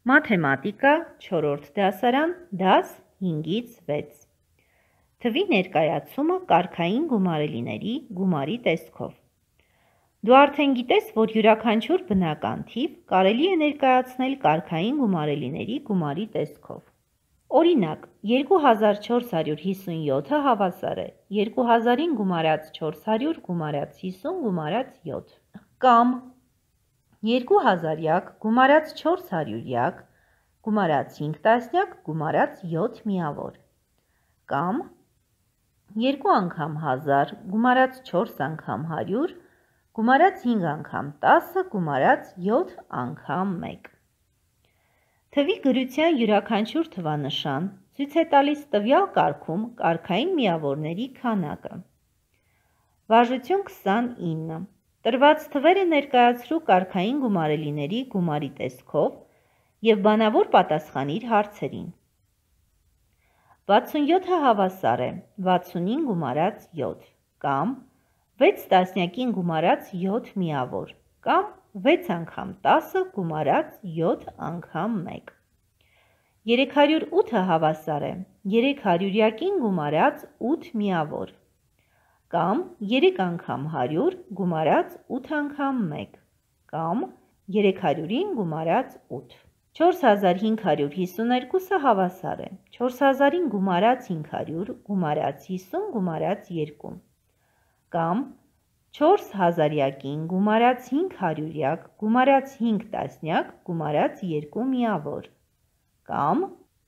Մաթեմատիկա 4-րդ դասարան, դաս 5-ից 6։ Թվի ներկայացումը կարգային գումարելիների գումարի տեսքով։ Դու արդեն գիտես, որ յուրաքանչյուր բնական թիվ կարելի է ներկայացնել կարգային գումարելիների գումարի տեսքով։ Օրինակ, 2457-ը հավասար է 2000-ին գումարած 400 գումարած 50 գումարած 7, կամ 2000-յակ գումարած 400-յակ գումարած 5 տասնյակ գումարած 7 միավոր, կամ 2 անգամ 1000 գումարած 4 անգամ 100 գումարած 5 անգամ 10 գումարած 7 անգամ 1։ Թվի գրության յուրաքանչյուր թվանշան ցույց է տալիս տվյալ կարգում կարգային միավորների քանակը։ Վարժություն 29։ Տրված թվերը ներկայացրու կարգային գումարելիների գումարի տեսքով և բանավոր պատասխանիր հարցերին։ 67-ը հավասար է 60-ին գումարած 7, կամ 6 տասնյակին գումարած 7 միավոր, կամ 6 անգամ 10 գումարած 7 անգամ 1։ 308-ը հավասար է 300-յակին գումարած 8 միավոր, կամ 3 անգամ 100 գումարած 8 անգամ 1, կամ 300-ին գումարած 8։ 4552-ը հավասար է 4000-ին գումարած 500 գումարած 50 գումարած 2, կամ 4000-յակին գումարած 500-յակ գումարած 5 տասնյակ գումարած 2 միավոր, կամ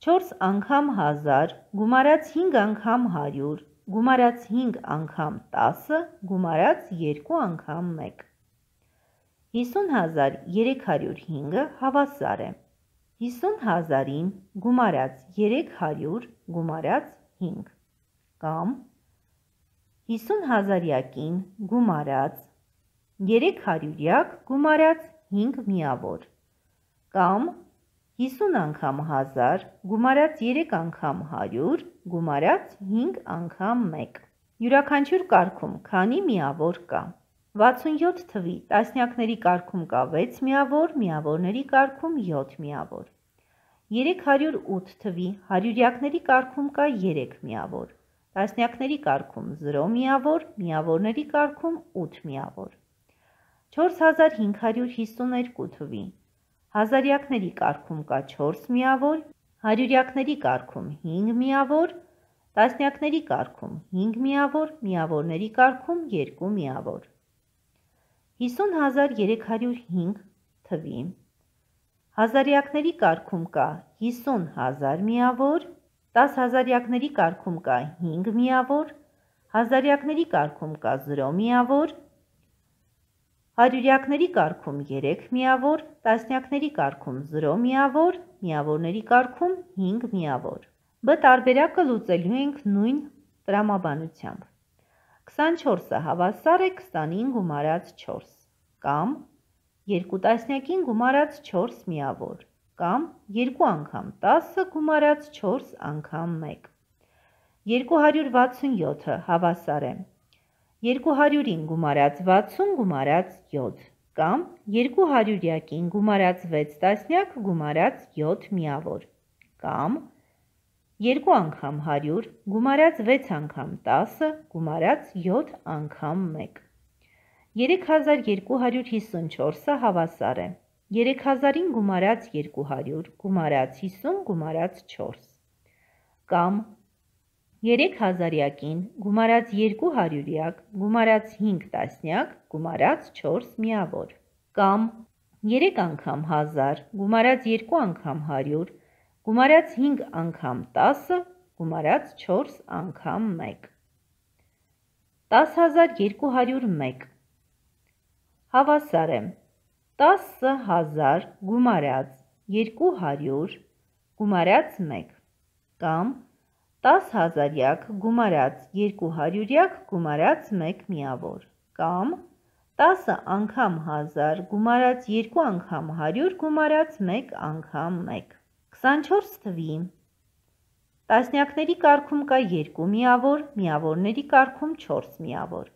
4 անգամ 1000 գումարած 5 անգամ 100 գումարած 5 անգամ 10 գումարած 2 անգամ 1։ 50305-ը հավասար է 50000-ին գումարած 300 գումարած 5, կամ 50000-յակին գումարած 300-յակ գումարած 5 միավոր, կամ 50 անգամ 1000 գումարած 3 անգամ 100 գումարած 5 անգամ 1։ Յուրաքանչյուր կարգում քանի միավոր կա։ 67 թվի տասնյակների կարգում կա 6 միավոր, միավորների կարգում 7 միավոր։ 308 թվի հարյուրյակների կարգում կա 3 միավոր, տասնյակների կարգում 0 միավոր, միավորների կարգում 8 միավոր։ 4552 թվի հազարյակների կարգում կա 4 միավոր, հարյուրյակների կարգում 5 միավոր, տասնյակների կարգում 5 միավոր, միավորների կարգում 2 միավոր։ 50305 թվի հազարյակների կարգում կա 50000 միավոր, 10 հազարյակների կարգում կա 5 միավոր, հազարյակների կարգում կա 0 միավոր, հարյուրյակների կարգում 3 միավոր, տասնյակների կարգում 0 միավոր, միավորների կարգում 5 միավոր։ B տարբերակը լուծելու ենք նույն տրամաբանությամբ։ 24-ը հավասար է 20-ին գումարած 4, կամ 2 տասնյակին գումարած 4 միավոր, կամ 2 անգամ 10 գումարած 4 անգամ 1։ 267-ը հավասար է 200-ին գումարած 60 գումարած 7, կամ 200-յակին գումարած 6 տասնյակ գումարած 7 միավոր, կամ 2 անգամ 100 գումարած 6 անգամ 10 գումարած 7 անգամ 1։ 3254-ը հավասար է 3000-ին գումարած 200 գումարած 50 գումարած 4, կամ 3000-յակին գումարած 200-յակ գումարած 5 տասնյակ գումարած 4 միավոր, կամ 3 անգամ 1000 գումարած 2 անգամ 100 գումարած 5 անգամ 10 գումարած 4 անգամ 1։ 10201 հավասար է 10000 գումարած 200 գումարած 1, կամ 10000-յակ գումարած 200-յակ գումարած 1 միավոր, կամ 10 անգամ 1000 գումարած 2 անգամ 100 գումարած 1 անգամ 1։ 24 թվի տասնյակների կարգում կա 2 միավոր, միավորների կարգում 4 միավոր։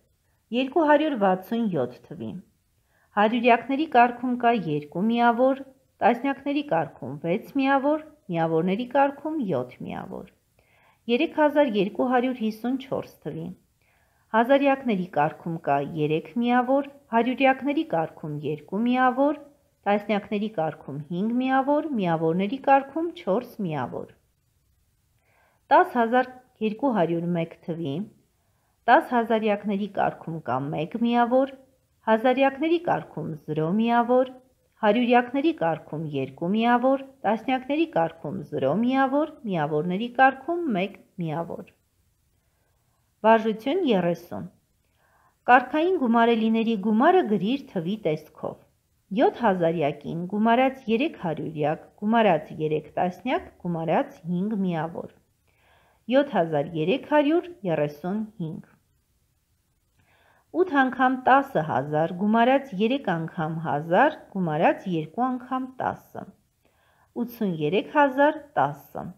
267 թվի հարյուրյակների կարգում կա 2 միավոր, տասնյակների կարգում 6 միավոր, միավորների կարգում 7 միավոր, 3254 թվի, հազարյակների կարգում կա 3 միավոր, հարյուրյակների կարգում 2 միավոր, տասնյակների կարգում 5 միավոր, միավորների կարգում 4 միավոր, 10201 թվի, 10 հազարյակների կարգում կա 1 միավոր, հազարյակների կարգում 0 միավոր, հարյուրյակների կարգում 2 միավոր, տասնյակների կարգում 0 միավոր, միավորների կարգում 1 միավոր։ Վարժություն 30։ Կարգային գումարելիների գումարը գրիր թվի տեսքով։ 7 հազարյակին գումարած 3 հարյուրյակ, գումարած 3 տասնյակ, գումարած 5 միավոր, 7335։ 8 անգամ 10,000, գումարած 3 անգամ 1000, գումարած 2 անգամ 10, 83010։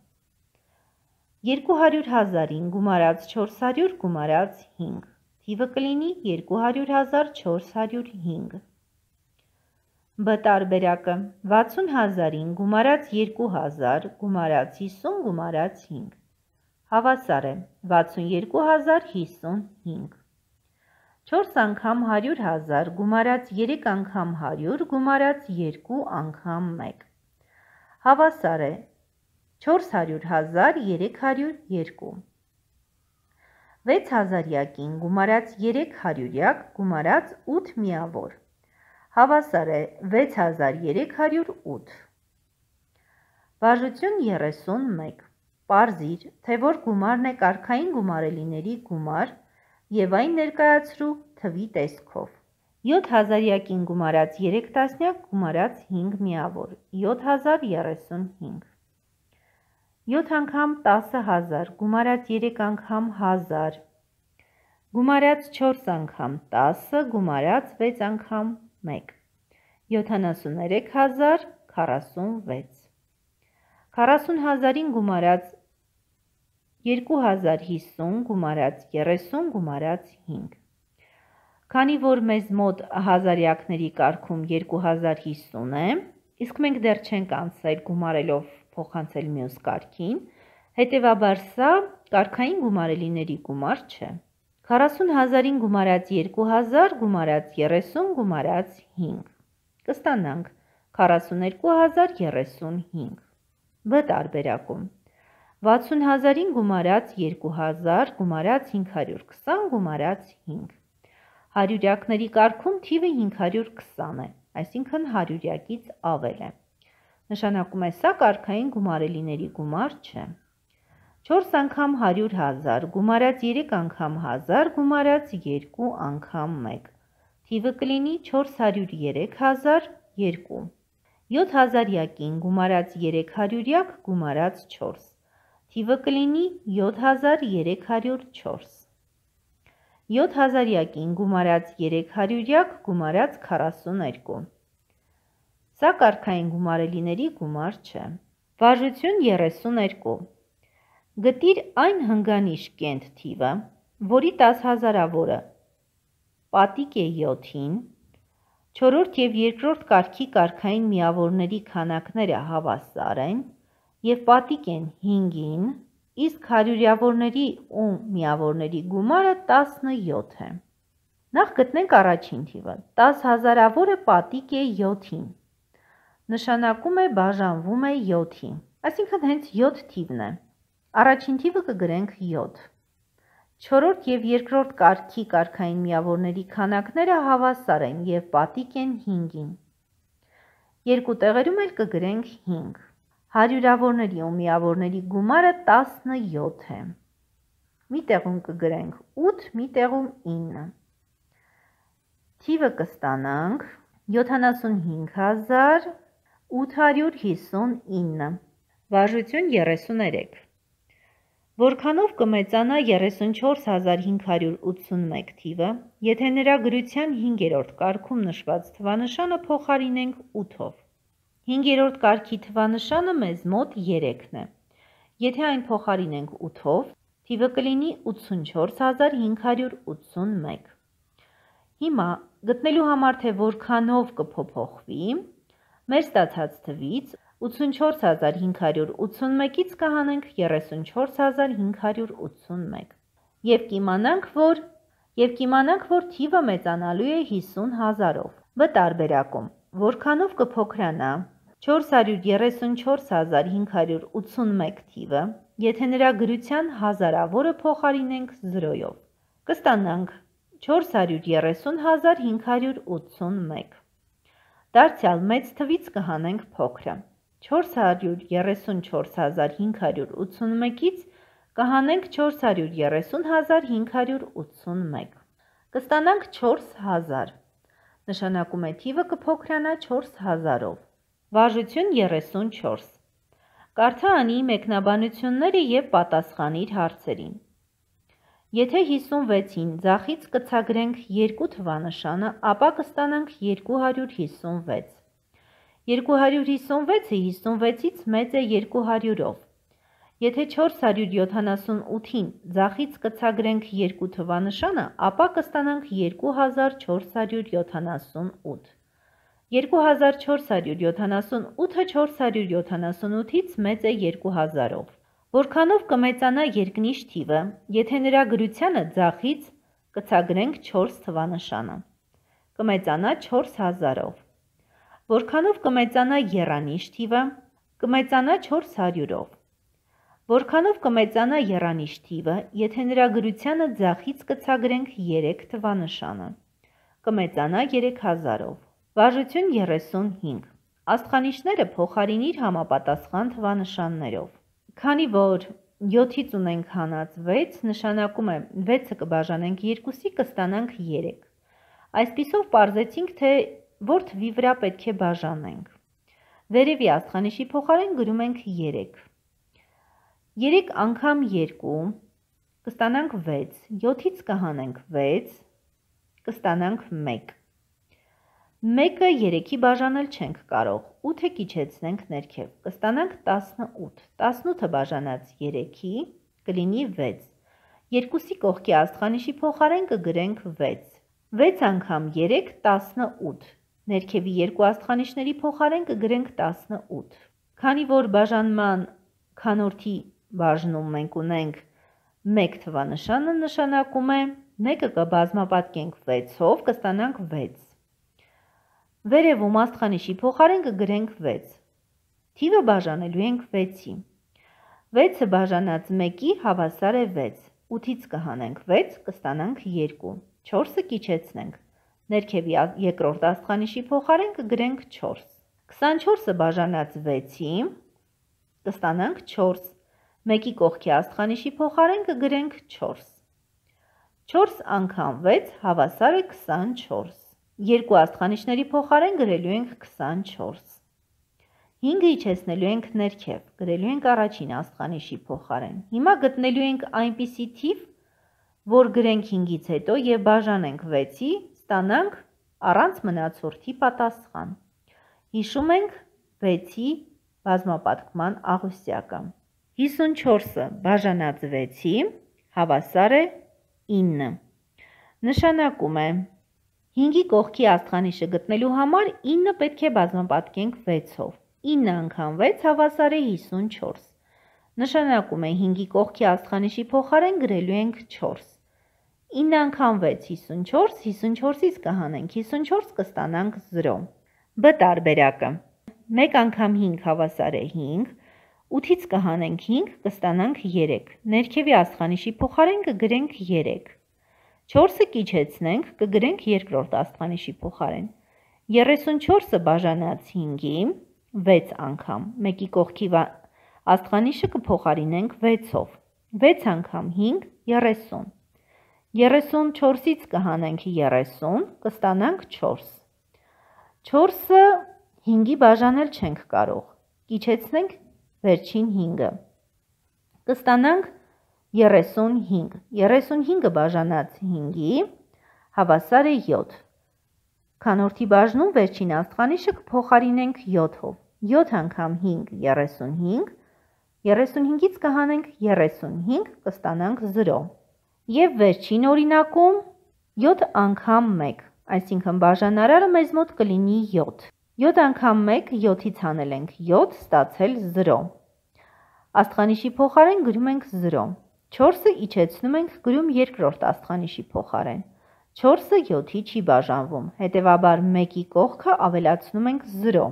200,000-ին գումարած 400, գումարած 5, թիվը կլինի 200,405։ B տարբերակը 60,000-ին գումարած 2000, գումարած 50, գումարած 5, հավասար է 62055։ 4 անգամ 100,000, գումարած 3 անգամ 100, գումարած 2 անգամ 1, հավասար է 400,302։ 6 հազարյակին գումարած 3 հարյուրյակ, գումարած 8 միավոր, հավասար է 6308։ Վարժություն 31։ Պարզիր, թե որ գումարն է կարգային գումարելիների գումար և այն ներկայացրու թվի տեսքով։ 7 հազարյակին գումարած 3 տասնյակ, գումարած 5 միավոր, 7035։ 7 անգամ 10,000, գումարած 3 անգամ 1000, գումարած 4 անգամ 10, գումարած 6 անգամ 1, 73046։ 40,000-ին գումարած 2050, գումարած 30, գումարած 5։ Քանի որ մեզ մոտ հազարյակների կարգում 2050 է, իսկ մենք դեռ չենք անցել գումարելով փոխանցել մյուս կարգին, հետևաբար սա կարգային գումարելիների գումար չէ։ 40,000-ին գումարած 2000, գումարած 30, գումարած 5, կստանանք 42035։ B տարբերակում 60,000-ին գումարած 2000, գումարած 520, գումարած 5, հարյուրյակների կարգում թիվը 520 է, այսինքն հարյուրյակից ավել է, նշանակում է սա կարգային գումարելիների գումար չէ։ 4 անգամ 100,000, գումարած 3 անգամ 1000, գումարած 2 անգամ 1, թիվը կլինի 403002։ 7 հազարյակին գումարած 3 հարյուրյակ, գումարած 4, թիվը կլինի 7304։ 7 հազարյակին գումարած 3 հարյուրյակ, գումարած 42։ Սա կարգային գումարելիների գումար չէ։ Վարժություն 32։ Գտիր այն հնգանիշ կենտ թիվը, որի 10,000-ավորը պատիկ է 7-ին, չորրորդ և երկրորդ կարգի կարգային միավորների քանակները հավասար են և պատիկ են 5-ին, իսկ հարյուրյավորների ու միավորների գումարը 17 է։ Նախ գտնենք առաջին թիվը։ 10,000-ավորը պատիկ է 7-ին, նշանակում է բաժանվում է 7-ի, այսինքն հենց 7 թիվն է։ Առաջին թիվը կգրենք 7։ Չորրորդ և երկրորդ կարգի կարգային միավորների քանակները հավասար են և պատիկ են 5-ին։ Երկու տեղերում էլ կգրենք 5։ Հարյուրավորների ու միավորների գումարը 17 է։ Մի տեղում կգրենք 8, մի տեղում 9։ Թիվը կստանանք 75859։ Վարժություն 33։ Որքանով կմեծանա 34581 թիվը, եթե նրա գրության 5-րդ կարգում նշված թվանշանը փոխարինենք 8-ով։ 5-րդ կարգի թվանշանը մեզ մոտ 3-ն է։ Եթե այն փոխարինենք 8-ով, թիվը կլինի 84581։ Հիմա գտնելու համար, թե որքանով կփոփոխվի, Մեր ստացած թվից 84581-ից կհանենք 34581 և կիմանանք, որ թիվը մեծանալու է 50,000-ով։ Բտարբերակում որքանով կփոքրանա 434,581 թիվը, եթե նրա գրության հազարավորը փոխարինենք 0-ով։ Կստանանք 430,581։ Դարձյալ մեծ թվից կհանենք փոքրը։ 434,581-ից կհանենք 430,581։ Կստանանք 4000։ Նշանակում է թիվը կփոքրանա 4000-ով։ Վարժություն 34։ Կարդա անի մեկնաբանությունները և պատասխանիր հարցերին։ Եթե 56-ին ձախից կցագրենք 2 թվանշանը, ապա կստանանք 256։ 256-ը 56-ից մեծ է 200-ով։ Եթե 478-ին ձախից կցագրենք 2 թվանշանը, ապա կստանանք 2478։ 2478-ը 478-ից մեծ է 2000-ով։ Որքանով կմեծանա երկնիշ թիվը, եթե նրա գրությանը ձախից կցագրենք 4 թվանշանը։ Կմեծանա 4000-ով։ Որքանով կմեծանա եռանիշ թիվը, կմեծանա 400-ով։ Որքանով կմեծանա եռանիշ թիվը, եթե նրա գրությանը ձախից կցագրենք 3 թվանշանը։ Կմեծանա 3000-ով։ Վարժություն 35։ Աստղանիշները փոխարինիր համապատասխան թվանշաններով։ Քանի որ 7-ից ունենք հանած 6, նշանակում է 6-ը կբաժանենք 2-ի կստանանք 3։ Այսպիսով պարզեցինք, թե որ թվի վրա պետք է բաժանենք։ Վերևի աստղանիշի փոխարեն գրում ենք 3։ 3 անգամ 2 կստանանք 6, 7-ից կհանենք 6, կստանանք 1։ 1-ը 3-ի բաժանել չենք կարող, 8-ը կիչեցնենք ներքև, կստանանք 18, 18-ը բաժանած 3-ի կլինի 6, 2-ի կողքի աստղանիշի փոխարեն կգրենք 6, 6 անգամ 3, 18, ներքևի երկու աստղանիշների փոխարեն կգրենք 18, քանի որ բաժանման քանորդի բաժնում մենք ունենք 1 թվանշանը, նշանակում է 1-ը կբազմապատկենք 6-ով, կստանանք 6, վերևում աստղանիշի փոխարեն կգրենք 6, թիվը բաժանելու ենք 6-ի, 6-ը բաժանած 1-ի հավասար է 6, 8-ից կհանենք 6, կստանանք 2, 4-ը կիչեցնենք, ներքևի երկրորդ աստղանիշի փոխարեն կգրենք 4, 24-ը բաժանած 6-ի կստանանք 4, 1-ի կողքի աստղանիշի փոխարեն կգրենք 4, 4 անգամ 6 հավասար է 24, երկու աստղանիշների փոխարեն գրելու ենք 24, 5-ը իջեցնելու ենք ներքև, գրելու ենք առաջին աստղանիշի փոխարեն, հիմա գտնելու ենք այնպիսի թիվ, որ գրենք 5-ից հետո և բաժանենք 6-ի, ստանանք առանց մնացորդի պատասխան։ Հիշում ենք 6-ի բազմապատկման աղյուսակը։ 54-ը բաժանած 6-ի հավասար է 9։ Նշանակում է 5-ի կողքի աստղանիշը գտնելու համար 9 պետք է բազմապատկենք 6-ով։ 9 անգամ 6 հավասար է 54։ Նշանակում է 5-ի կողքի աստղանիշի փոխարեն գրելու ենք 4։ 9 անգամ 6 54, 54-ից կհանենք 54 կստանանք 0։ B տարբերակը 1 անգամ 5 հավասար է 5, 8-ից կհանենք 5 կստանանք 3, ներքևի աստղանիշի փոխարեն կգրենք 3, 4-ը կիչեցնենք կգրենք երկրորդ աստղանիշի փոխարեն, 34-ը բաժանած 5-ի 6 անգամ, 1-ի կողքի աստղանիշը կփոխարինենք 6-ով, 6 անգամ 5 30, 34-ից կհանենք 30, կստանանք 4, 4-ը 5-ի բաժանել չենք կարող, կիչեցնենք վերջին 5-ը, կստանանք 35, 35-ը բաժանած 5-ի հավասար է 7, քանորդի բաժնում վերջին աստղանիշը կփոխարինենք 7-ով, 7 անգամ 5 35, 35-ից կհանենք 35, կստանանք 0, և վերջին օրինակում 7 անգամ 1, այսինքն բաժանարարը մեզ մոտ կլինի 7, 7 անգամ 1, 7-ից հանել ենք 7, ստացել 0։ Աստղանիշի փոխարեն գրում ենք 0։ 4-ը իջեցնում ենք, գրում երկրորդ աստղանիշի փոխարեն։ 4-ը 7-ի չի բաժանվում, հետևաբար 1-ի կողքը ավելացնում ենք 0։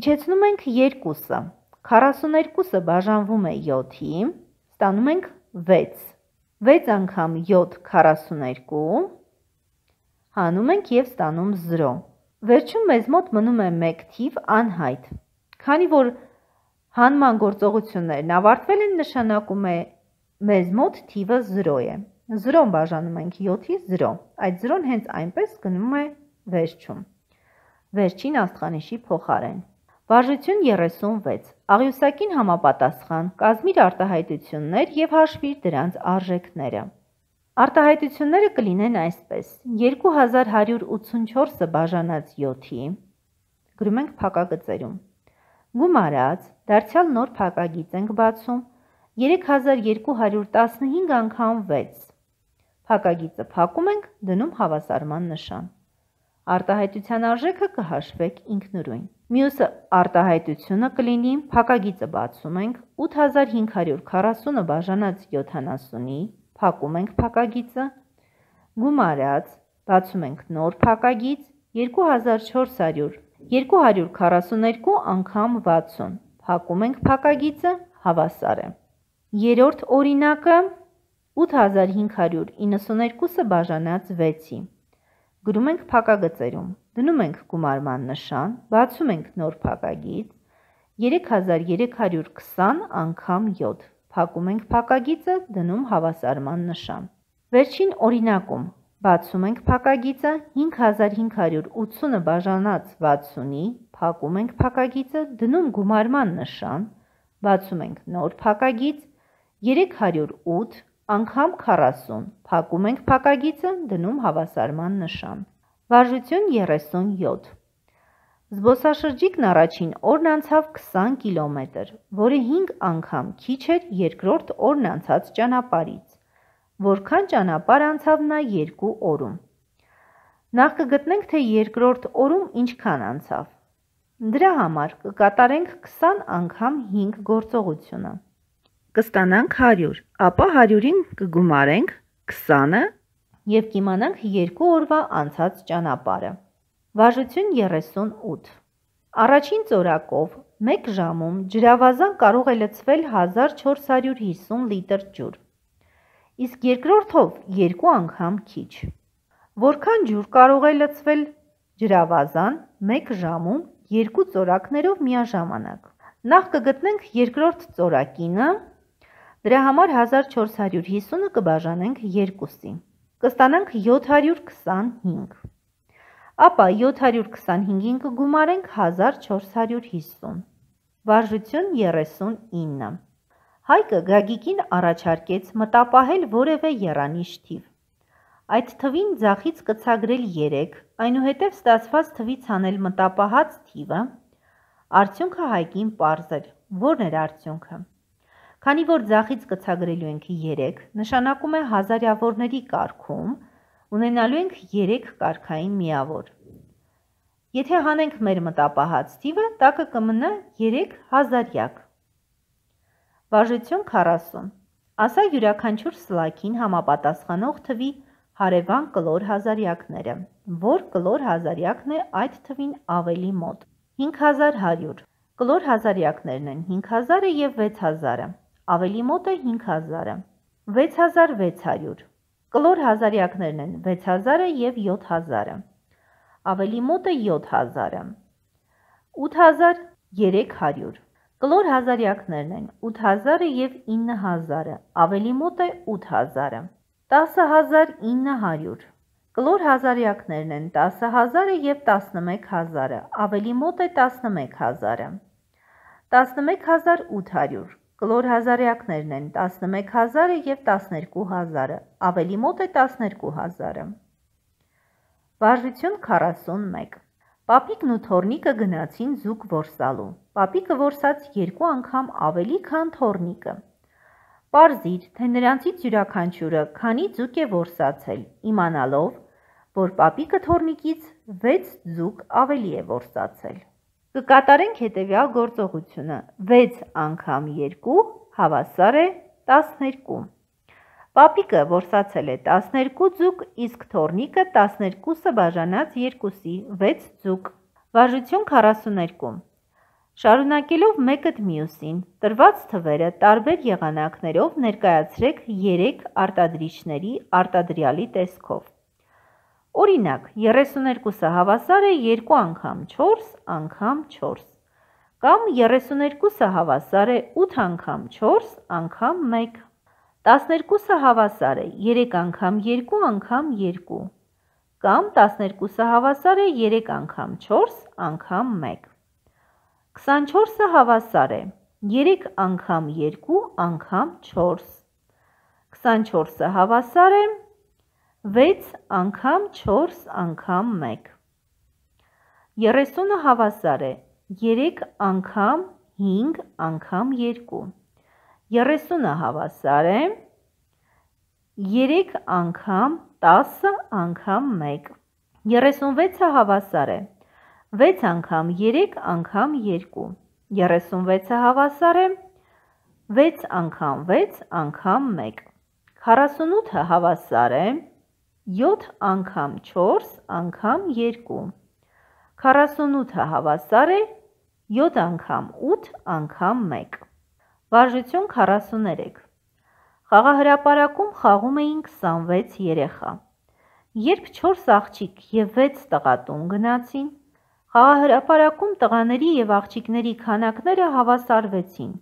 Իջեցնում ենք 2-ը, 42-ը բաժանվում է 7-ի, ստանում ենք 6։ 6 անգամ 7, 42, հանում ենք և ստանում 0։ Վերջում մեզ մոտ մնում է 1 թիվ անհայտ։ Քանի որ հանման գործողություններն ավարտվել են, նշանակում է մեզ մոտ թիվը 0 է։ 0-ն բաժանում ենք 7-ի 0։ Այդ 0-ն հենց այնպես գնում է վերջում։ Վերջին աստղանիշի փոխարեն։ Վարժություն 36։ Աղյուսակին համապատասխան կազմիր արտահայտություններ և հաշվիր դրանց արժեքները։ Արտահայտությունները կլինեն այսպես. 2184-ը բաժանած 7-ի, գրում ենք փակագծերում, գումարած, դարձյալ նոր փակագիծ ենք բացում, 3215 անգամ 6, փակագիծը փակում ենք, դնում հավասարման նշան։ Արտահայտության արժեքը կհաշվեք ինքնուրույն։ Մյուս արտահայտությունը կլինի, փակագիծը բացում ենք, 8540-ը բաժանած 70-ի, փակում ենք փակագիծը, գումարած, բացում ենք նոր փակագիծ, 242 անգամ 60, փակում ենք փակագիծը, հավասար է։ Երրորդ օրինակը 8592-ը բաժանած 6-ի, գրում ենք փակագծերում, դնում ենք գումարման նշան, բացում ենք նոր փակագիծ, 3320 անգամ 7, փակում ենք փակագիծը, դնում հավասարման նշան։ Վերջին օրինակում բացում ենք փակագիծը, 5580-ը բաժանած 60-ի, փակում ենք փակագիծը, դնում գումարման նշան, բացում ենք նոր փակագիծ, 308 անգամ 40, փակում ենք փակագիծը, դնում հավասարման նշան։ Վարժություն 37։ Զբոսաշրջիկն առաջին օրն անցավ 20 կիլոմետր, որը 5 անգամ քիչ էր երկրորդ օրն անցած ճանապարհից։ Որքան ճանապարհ անցավ նա 2 օրում։ Նախ կգտնենք, թե երկրորդ օրում ինչքան անցավ։ Դրա համար կկատարենք 20 անգամ 5 գործողությունը։ Կստանանք 100, ապա 100-ին կգումարենք 20-ը և կիմանանք 2 օրվա անցած ճանապարհը։ Վարժություն 38։ Առաջին ծորակով 1 ժամում ջրավազան կարող է լցվել 1450 լիտր ջուր, իսկ երկրորդով 2 անգամ քիչ։ Որքան ջուր կարող է լցվել ջրավազան 1 ժամում 2 ծորակներով միաժամանակ։ Նախ կգտնենք երկրորդ ծորակինը, դրա համար 1450-ը կբաժանենք 2-ի, կստանանք 725, ապա 725-ին կգումարենք 1450, վարժություն 39։ Հայկը Գագիկին առաջարկեց մտապահել որևէ եռանիշ թիվ։ Այդ թվին ձախից կցագրել 3, այնուհետև ստացված թվից հանել մտապահած թիվը, արդյունքը Հայկին պարզ էր։ Որն էր արդյունքը։ Քանի որ ձախից կցագրելու ենք 3, նշանակում է հազարյավորների կարգում ունենալու ենք 3 կարգային միավոր։ Եթե հանենք մեր մտապահած թիվը, տակը կմնա 3 հազարյակ։ Վարժություն 40։ Ասա յուրաքանչյուր սլաքին համապատասխանող թվի հարևան կլոր հազարյակները, որ կլոր հազարյակն է այդ թվին ավելի մոտ։ 5100, կլոր հազարյակներն են 5000-ը և 6000-ը, ավելի մոտ է 5000-ը։ 6600, կլոր հազարյակներն են 6000-ը և 7000-ը, ավելի մոտ է 7000-ը։ 8300, կլոր հազարյակներն են 8000-ը և 9000-ը, ավելի մոտ է 8000-ը։ 10900, կլոր հազարյակներն են 10000-ը և 11000-ը, ավելի մոտ է 11000-ը։ 11800, կլոր հազարյակներն են 11000-ը և 12000-ը, ավելի մոտ է 12000-ը։ Վարժություն 41։ Պապիկն ու թոռնիկը գնացին ձուկ որսալու։ Պապիկը որսաց 2 անգամ ավելի, քան թոռնիկը։ Պարզիր, թե նրանցից յուրաքանչյուրը քանի ձուկ է որսացել, իմանալով, որ պապիկը թոռնիկից 6 ձուկ ավելի է որսացել։ Կկատարենք հետևյալ գործողությունը. 6 անգամ 2 հավասար է 12։ Պապիկը որսացել է 12 ձուկ, իսկ թոռնիկը 12-ը բաժանած 2-ի 6 ձուկ։ Վարժություն 42։ Շարունակելով մեկըդ մյուսին, տրված թվերը տարբեր եղանակներով ներկայացրեք 3 արտադրիչների արտադրյալի տեսքով։ Օրինակ, 32-ը հավասար է 2 անգամ 4 անգամ 4, կամ 32-ը հավասար է 8 անգամ 4 անգամ 1, 12-ը հավասար է 3 անգամ 2 անգամ 2, կամ 12-ը հավասար է 3 անգամ 4 անգամ 1, 24-ը հավասար է 3 անգամ 2 անգամ 4, 24-ը հավասար է 6 անգամ 4 անգամ 1, 30-ը հավասար է 3 անգամ 5 անգամ 2, 30-ը հավասար է 3 անգամ 10 անգամ 1, 36-ը հավասար է 6 անգամ 3 անգամ 2, 36-ը հավասար է 6 անգամ 6 անգամ 1, 48-ը հավասար է 7 անգամ 4 անգամ 2, 48-ը հավասար է 7 անգամ 8 անգամ 1։ Վարժություն 43։ Խաղահրապարակում խաղում էին 26 երեխա։ Երբ 4 աղջիկ և 6 տղատուն գնացին, խաղահրապարակում տղաների և աղջիկների քանակները հավասարվեցին։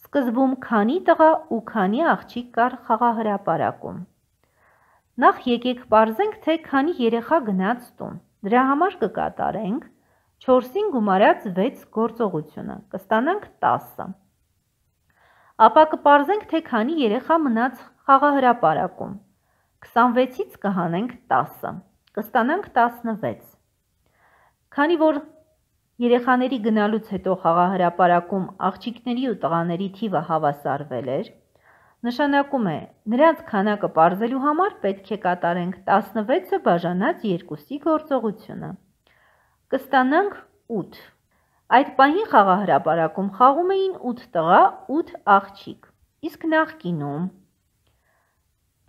Սկզբում քանի տղա ու քանի աղջիկ կար խաղահրապարակում։ Նախ եկեք պարզենք, թե քանի երեխա գնաց տուն։ Դրա համար կկատարենք 4-ին գումարած 6 գործողությունը, կստանանք 10։ Ապա կպարզենք, թե քանի երեխա մնաց խաղահրապարակում։ 26-ից կհանենք 10, կստանանք 16։ Քանի որ երեխաների գնալուց հետո խաղահրապարակում աղջիկների ու տղաների թիվը հավասարվել էր, նշանակում է նրանց քանակը պարզելու համար պետք է կատարենք 16-ը բաժանած 2-ի գործողությունը։ Կստանանք 8։ Այդ պահին խաղահրապարակում խաղում էին 8 տղա, 8 աղջիկ, իսկ նախկինում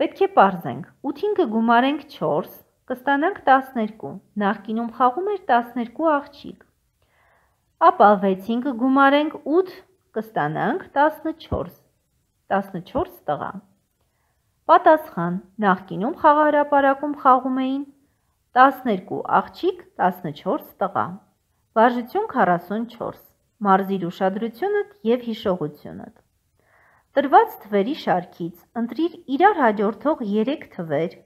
պետք է պարզենք 8-ին կգումարենք 4, կստանանք 12, նախկինում խաղում էր 12 աղջիկ, ապա 6-ին կգումարենք 8, կստանանք 14, 14 տղա։ Պատասխան. նախկինում խաղահրապարակում խաղում էին 12 աղջիկ, 14 տղա։ Վարժություն 44. Մարզիր ուշադրությունդ և հիշողությունդ։ Տրված թվերի շարքից ընտրիր իրար հաջորդող 3 թվեր,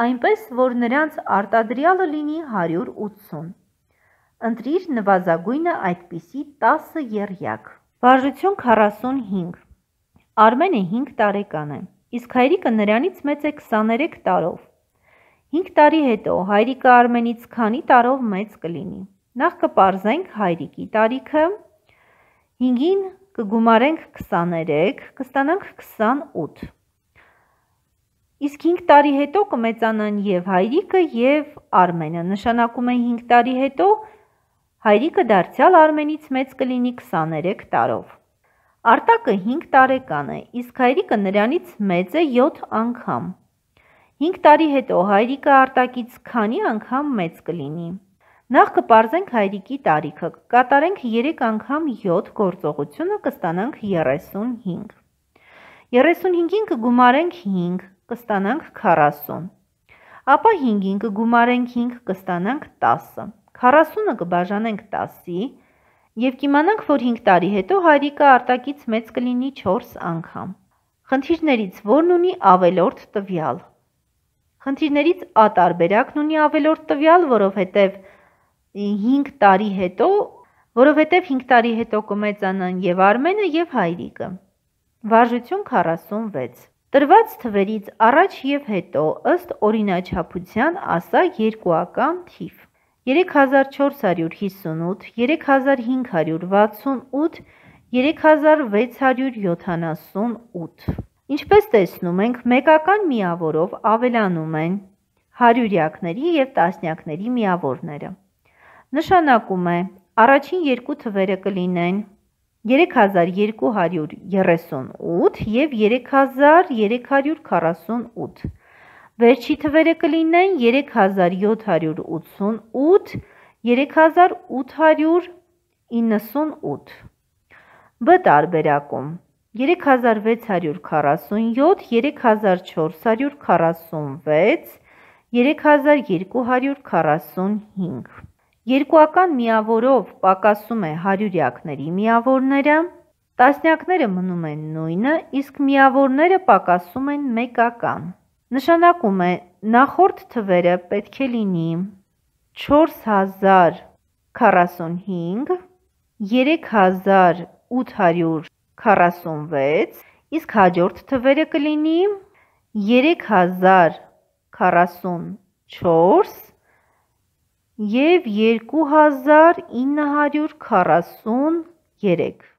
այնպես, որ նրանց արտադրյալը լինի 180։ Ընտրիր նվազագույնը այդպիսի 10 եռյակ։ Վարժություն 45. Արմենը 5 տարեկան է, իսկ հայրիկը նրանից մեծ է 23 տարով։ 5 տարի հետո հայրիկը Արմենից քանի տարով մեծ կլինի։ Նախ կպարզենք հայրիկի տարիքը, 5-ին կգումարենք 23, կստանանք 28։ Իսկ 5 տարի հետո կմեծանան և հայրիկը և Արմենը, նշանակում է 5 տարի հետո հայրիկը դարձյալ Արմենից մեծ կլինի 23 տարով։ Արտակը 5 տարեկան է, իսկ հայրիկը նրանից մեծ է 7 անգամ։ 5 տարի հետո հայրիկը Արտակից քանի անգամ մեծ կլինի։ Նախ կպարզենք հայրիկի տարիքը, կկատարենք 3 անգամ 7 գործողությունը, կստանանք 35։ 35-ին կգումարենք 5, կստանանք 40։ Ապա 5-ին կգումարենք 5, կստանանք 10։ 40-ը կբաժանենք 10-ի և կիմանանք, որ 5 տարի հետո հայրիկը Արտակից մեծ կլինի 4 անգամ։ Խնդիրներից որն ունի ավելորդ տվյալ։ Խնդիրներից A տարբերակն ունի ավելորդ տվյալ, որովհետև 5 տարի հետո կմեծանան և Արմենը և հայրիկը։ Վարժություն 46. Տրված թվերից առաջ և հետո ըստ օրինաչափության ասա երկուական թիվ։ 3458, 3568, 3678։ Ինչպես տեսնում ենք, մեկական միավորով ավելանում են հարյուրյակների և տասնյակների միավորները։ Նշանակում է առաջին երկու թվերը կլինեն 3238 և 3348, վերջի թվերը կլինեն 3788, 3898։ B տարբերակում 3647, 3446, 3245։ Երկուական միավորով պակասում է հարյուրյակների միավորները, տասնյակները մնում են նույնը, իսկ միավորները պակասում են մեկական։ Նշանակում է նախորդ թվերը պետք է լինի 4045, 3846, իսկ հաջորդ թվերը կլինի 3044 և 2943։